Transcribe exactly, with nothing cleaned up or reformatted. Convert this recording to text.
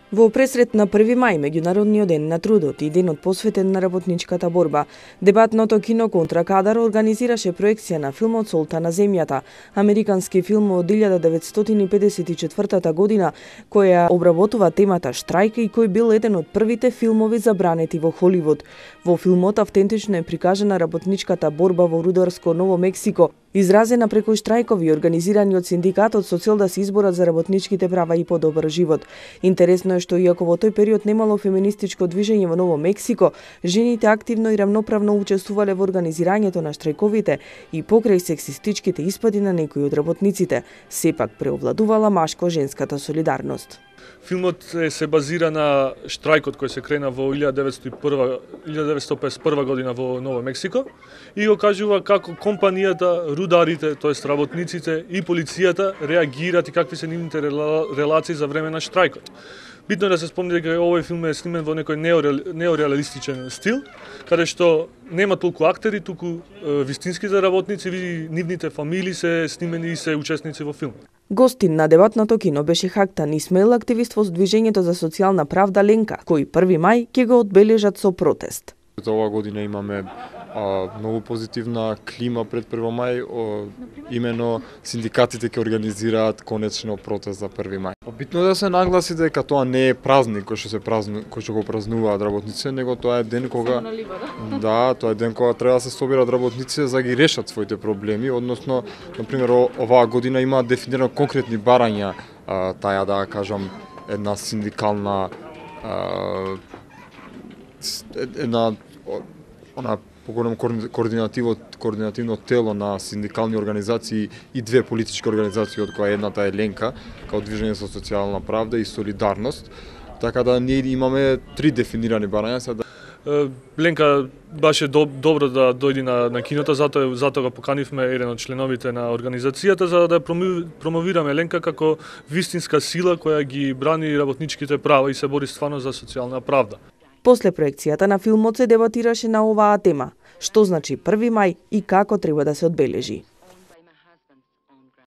Во пресрет на први мај, меѓународниот ден на трудот и денот посветен на работничката борба, дебатното кино Контра кадар организираше проекција на филмот Солта на земјата, американски филм од илјада деветстотини педесет и четвртата година, која обработува темата штрајк и кој бил еден од првите филмови забранети во Холивуд. Во филмот автентично е прикажана работничката борба во рударско Ново Мексико, изразена преку штрајкови организирани од синдикатот со цел да се изборат за работничките права и подобар живот. Интересно е што иако во тој период немало феминистичко движење во Ново Мексико, жените активно и рамноправно учествувале во организирањето на штрајковите и покрај сексистичките испади на некои од работниците, сепак преовладувала машко-женската солидарност. Филмот се базира на штрајкот кој се крена во илјада деветстотини и песет и прва година во Ново Мексико и го кажува како компанијата, рударите, тоест работниците и полицијата реагираат и какви се нивните релации за време на штрајкот. Битно е да се спомне дека овој филм е снимен во некој неореалистичен стил, каде што нема толку актери, туку вистинските работници и нивните фамилии се снимени и се учесници во филмот. Гостин на дебатното кино беше Хактан Исмаил, активист во Движењето за социјална правда Ленка, кој први мај ќе го одбележат со протест. За оваа година имаме а, многу позитивна клима пред први мај, о, имено синдикатите ќе организираат конечно протест за први мај. Битно е да се нагласи дека тоа не е празник кој што се празну, кој што го празнуваат работниците, него тоа е ден кога да, тоа е ден кога треба да се соберат работниците за да ги решат своите проблеми, односно, на пример, оваа година има дефинирано конкретни барања, а, таја да кажам една синдикална а, една она поголем координативно координативно тело на синдикални организации и две политички организации, од која едната е Ленка, као Движење за социјална правда и Солидарност. Така да ние имаме три дефинирани барања. Сега Ленка баше добро да дојде на, на киното, затоа затоа го поканивме еден од членовите на организацијата за да промовираме Ленка како вистинска сила која ги брани работничките права и се бори стварно за социјална правда. После проекцијата на филмот се дебатираше на оваа тема: што значи први мај и како треба да се одбележи.